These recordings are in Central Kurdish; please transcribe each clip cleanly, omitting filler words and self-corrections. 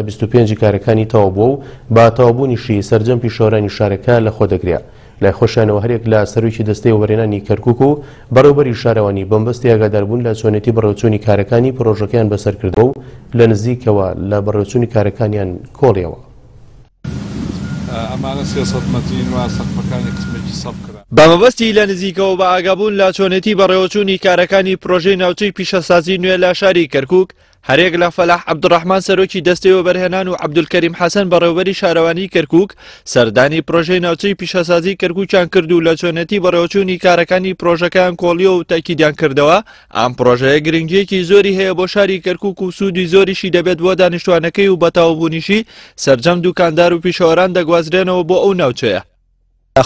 25 ی کارەکانی تەواو بووە و بە تەواوبوونیشی سەرجەم پیشەوەرانی شارەکە لەخۆدەگرێ. لای خۆشیانەوە هەریەک لە سەرۆکی دەستەی وەبەرهێنانی کەرکوک و بەڕێوەبەری شارەوانی بەمبەستی ئاگاداربوون لە چۆنێتی بەڕێوەچوونی کارەکانی پڕۆژەکەیان بەسەرکردووە و لە نزیکەوە لە بەڕێوەچوونی کارەکانیان کۆڵیەوە. ئەمانە 300 مەترین و سەقفەکانی قسمێکی سەف کران. بە مەبەستی لە نزیکەوە بە ئاگابوون لە چۆنێتی بەڕێوەچوونی کارەکانی پرۆژەی ناوچەی پیشەسازی نوێ لە شاری کەرکوک، هەریەک لە فەلاح عەبدولڕەحمان سەرۆکی دەستەی وەبەرهێنان و عەبدولکەریم حەسەن بەڕێوەبەری شارەوانی کەرکوک سەردانی پرۆژەی ناوچەی پیشەسازی کەرکوکیان کرد و لە چۆنێتی بەڕێوەچوونی کارەکانی پرۆژەکەیان کۆڵیەوە و تاکیدیان کردەوە ئەم پرۆژەیە گرنگیەکی زۆری هەیە بۆ شاری کەرکوک و سوودی زۆریشی دەبێت بۆ دانیشتوانەکەی و بەتەواوبوونیشی سەرجەم دوکاندار و پیشەوەران دەگوازرێنەوە بۆ ئەو ناوچەیە.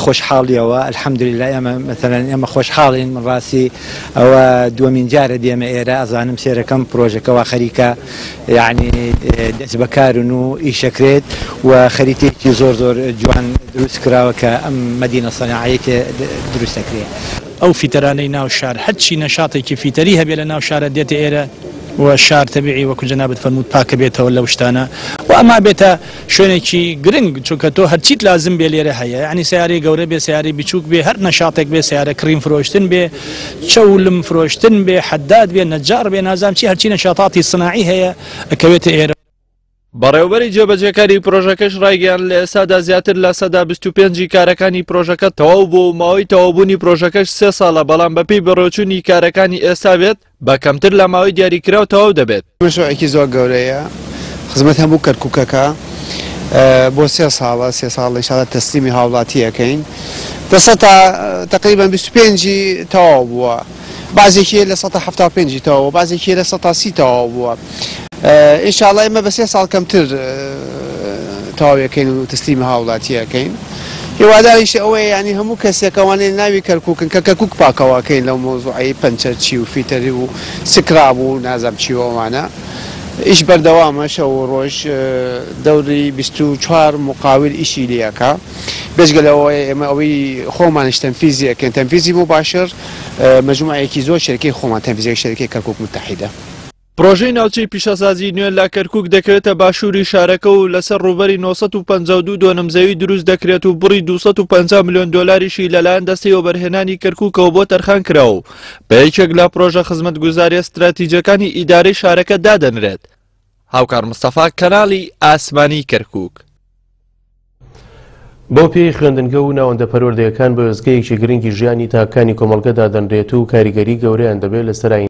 خۆشحاڵیەوە الحمدللە ئێمە مەسەلەن ئێمە خۆشحاڵین من ڕاستی ئەوە دووەمین جارە دێمە ئێرە ئەزانم سێرەکەم پرۆژەکە وا خەریکە یعنی دەست بەکارن و ئیشەکرێت و خەریتەیەکی زۆر زۆر جوان دروست کراوە کە ئەم مەدینە سەناعەیە تێ دروست دەکرێت. ئەو فیتەرانەی ناو شار هەرچی نەشاتێکی فیتەری هەبێ لە ناو شارە دێتە ئێرە و شار تەبیعی وەکو جەنابت فەرمووت پاکەبێتەوە لەو شتانە و ئەما بێتە شوێنێکی گرنگ چونکە تۆ هەرچیت لازم بێ لێرە هەیە یانی سەیارەی گەورە بێ سەیارەی بچوک بێ هەر نەشاتێک بێ سەیارە کڕین فرۆشتن بێ چەولم فرۆشتن بێ حەداد بێ نەجاڕ بێ نازام چی هەرچی نەشاتاتی سناعی هەیە ئەکەوێتە ئێرە. بەڕێوەبەری جێبەجێکاری پرۆژەکەش ڕایگەیاند، لە ئێستادا زیاتر لە 25% ی کارەکانی پرۆژەکە تەواو بووە و ماوەی تەواوبوونی پرۆژەکەش سێ ساڵە، بەڵام بەپێی بەڕێوەچوونی کارەکانی ئێستا بێت بە کەمتر لە ماوەی دیاریکراو تەواو دەبێت. مەشروعێکی زۆر گەورەیە خزمەت هەموو کەرکوکەکە بۆ سێ ساڵە سێ ساڵ ان شاءاللە تەسلیمی هاوڵاتی ئەکەین دە سەتا تقریبا 25 ی تەواو بووە بازێکی لە سەتا 75 ی تەواو بازێکی لە سەتا سی تەواو بووە ان شاءاللە ئێمە بە سێ ساڵ کەمتر تەواویەکەین و تەسلیمی هاوڵاتی ئەکەین هیواداریش ئەوەیە یانی هەموو کەسێک ئەوانەی ناوی کەرکوکن کە کەرکوک پاکەوەکەین لەو مەوزوعەی پەنچەرچی و فیتەری و سکراب و نازام چی و ئەوانە ئیش بەردەوامە شەو و ڕۆژ دەوری 24 مقاول ئیشی لێ ئەکا بێجگە لەوەی ئێمە ئەوەی خۆمانیش تەنفیزی ئەکەین تەنفیزی موباشر مەجموعەیەکی زۆر شەرکەی خۆمان تەنفیزی شەرکەی کەرکوک متحیدە. پرۆژەی ناوچەی پیشەسازی نوێ لە کەرکوک دەکەوێتە باشووری شارەکە و لەسەر ڕووبەری 952 دۆنم زەوی دروست دەکرێت و بڕی 250 ملیۆن دۆلاریشی لەلایەن دەستەی وەبەرهێنانی کەرکوکەوە بۆ تەرخان کراوە و بە یەکێک لە پرۆژە خزمەتگوزاریە ستراتیجەکانی ئیدارەی شارەکە دادەنرێت. هاوکار مستەفا، کەناڵی ئاسمانی کەرکوک. بەو پێیەی خوێندنگە و ناوەندە پەروەردەیەکان بە وێستگەیەکی گرنگی ژیانی تاکەکانی کۆمەڵگە دادەنرێت و کاریگەری گەورەیان دەبێت لەسەر ئایندەی.